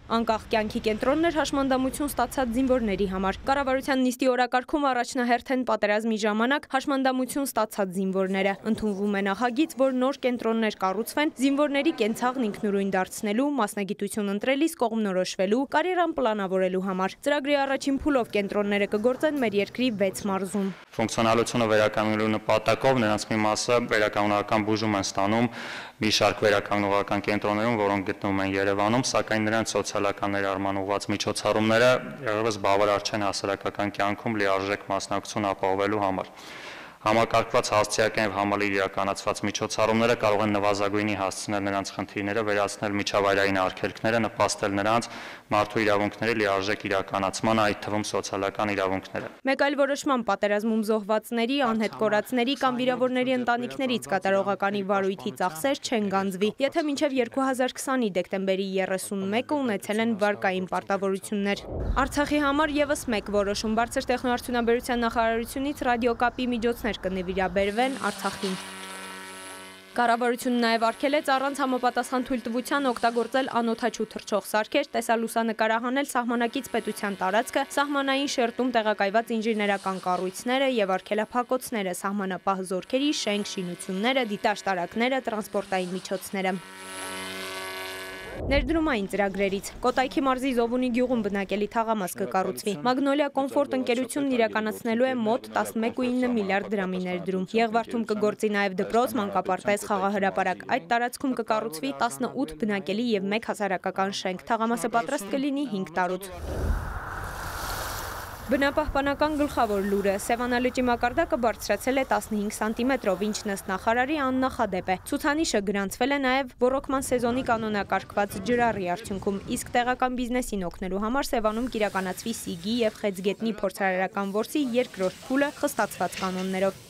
Անկախ կյանքի կենտրոններ հաշմանդամություն ստացած զինվորների համար։ Կառավարության նիստի օրակարգում առաջնահերթ են պատերազմի ժամանակ հաշմանդամություն ստացած զինվորները։ Ընդունվում է նախագիծ, որ նոր կենտրոններ կառուցվեն զինվորների կենցաղն ինքնուրույն դարձնելու, մասնագիտություն ընտրելիս կողմնորոշվելու, կարիերան պլանավորելու համար։ Ծրագրի առաջին փուլով կենտրոնները կգործեն մեր երկրի 6 մարզում։ Ֆունկցիոնալությունը վերականգնելու նպատակով նրանց մի մասը վերականգնողական բուժում են ստանում մի շարք վերականգնողական կենտրոններում, որոնք գտնվում են Երևանում, սակայն նրանց սոցիալական ներառման ուղղված միջոցառումները եղևս բավարար չեն հասարակական կյանքում լիարժեք մասնակցություն ապահովելու համար։ Համակարգված հասցեական եւ համալիր իրականացված միջոցառումները կարող են նվազագույնի հասցնել նրանց խնդիրները, վերացնել միջավայրային արգելքները, նպաստել նրանց մարդու իրավունքների լիարժեք իրականացման, այդ թվում սոցիալական իրավունքները։ Մեկ այլ որոշման պատերազմում զոհվածների, անհետ կորածների կամ վիրավորների ընտանիքներից կատարողականի վարույթի ծախսեր չեն գանձվի, եթե մինչև 2020-ի դեկտեմբերի 31-ը ունեցել են վարկային պարտավորություններ։ Արցախի համար եւս մեկ որոշում բարձր տեխնոարդյունաբերության նախարարությունից ռադիոկապի միջոցներ կնվիրաբերվեն Արցախին։ Կառավարությունն նաև արգել է առանց համապատասխան թույլտվության օգտագործել անօդաչու թռչող սարքեր, տեսալուսանկարահանել սահմանակից պետության տարածքը, սահմանային շերտում տեղակայված ինժեներական կառույցները եւ արգելափակոցները, սահմանապահ զորքերի շենք, շինությունները, դիտաշտարակները, տրանսպորտային միջոցները։ Ներդրումային ծրագրերից Կոտայքի մարզի Զովունի գյուղում բնակելի թաղամաս կկառուցվի։ Մագնոլիա կոմֆորտ ընկերությունն իրականացնելու է մոտ 11.9 միլիարդ դրամի ներդրում։ Եղվարդում կգործի նաև դպրոց, մանկապարտեզ, խաղահրապարակ։ Այդ տարածքում կկառուցվի 18 բնակելի եւ 1 հասարակական շենք։ Թաղամասը պատրաստ կլինի 5 տարուց։ Բնապահպանական գլխավոր լուրը Սևանա լճի մակարդակը բարձրացել է 15 սանտիմետրով, ինչն ըստ նախարարի աննախադեպ է։ Ցուցանիշը գրանցվել է նաև ոռոգման սեզոնի կանոնակարգված ջրառի արդյունքում, իսկ տեղական բիզնեսին օգնելու համար Սևանում կիրականացվի Սիգի եւ Խեցգետնի փորձարարական որսի երկրորդ փուլը խստացված կանոններով։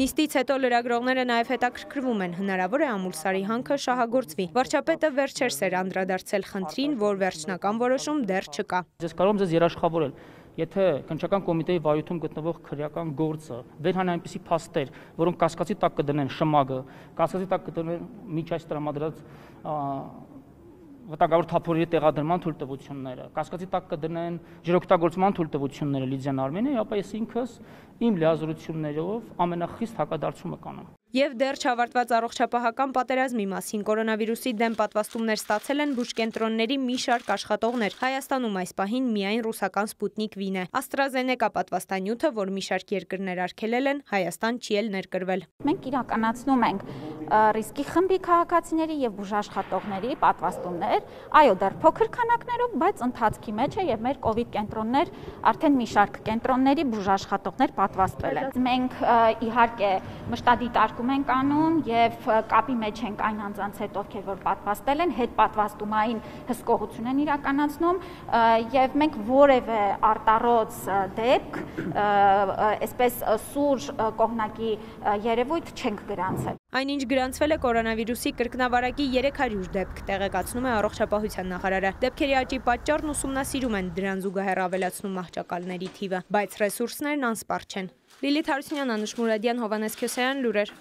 Նիստից հետո լրագրողները նաև հետաքրքրվում են, հնարավոր է Ամուլսարի հանքը շահագործվի։ Վարչապետը վերջերս էր անդրադարձել խնդրին, որ վերջնական որոշում դեռ չկա։ Ես կարող եմ ձեզ երաշխավորել, եթե քննչական կոմիտեի վարույթում գտնվող քրեական գործը վերհան այնպիսի փաստեր, որոնք կասկածի տակ կդնեն ՇՄԱԳ-ը, կասկածի տակ կդնեն միջ այս տրամադրած վտանգավոր թափորի տեղադրման թույլտվությունները, կասկածի տակ կդնեն ջրօգտագործման թույլտվությունները Լիդիան Արմենիայի, ապա ես ինքս իմ լիազորություններով ամենախիստ հակադարձումը կանեմ։ Եվ դեռ չավարտված առողջապահական պատերազմի մասին կորոնավիրուսի դեմ պատվաստումներ ստացել են բուժկենտրոնների մի շարք աշխատողներ։ Հայաստանում այս պահին միայն ռուսական Սպուտնիկ V-ն է։ AstraZeneca պատվաստանյութը, որ մի շարք երկրներ արգելել են, Հայաստան չի էլ ներկրվել։ Մենք իրականացնում ենք ռիսկի խմբի քաղաքացիների եւ բուժաշխատողների պատվաստումներ, այո, դեռ փոքր քանակներով, բայց ընթացքի մեջ է եւ մեր կոവിഡ് կենտրոններ արդեն մի շարք կենտրոնների բուժաշխատողներ պատվաստվել են։ Մենք իհարկե մշտադիտարկում ենք անում եւ կապի մեջ ենք այն անձանց հետ, ովքեր որ պատվաստել են, հետ պատվաստումային հսկողություն են իրականացնում եւ մենք որևէ արտառոց դեպք, այսպես սուր կողմնակի երևույթ չենք գրանցել։ Այնինչ գրանցվել է կորոնավիրուսի կրկնավարակի 300 դեպք, տեղեկացնում է առողջապահության նախարարը։ Դեպքերի աճի պատճառն ուսումնասիրում են, դրան զուգահեռ ավելացնում մահճակալների թիվը, բայց ռեսուրսներն անսպառ չեն։ Լիլիթ Հարությունյան, Անուշ Մուրադյան, Հովհաննես Քյոսայան, լուրեր։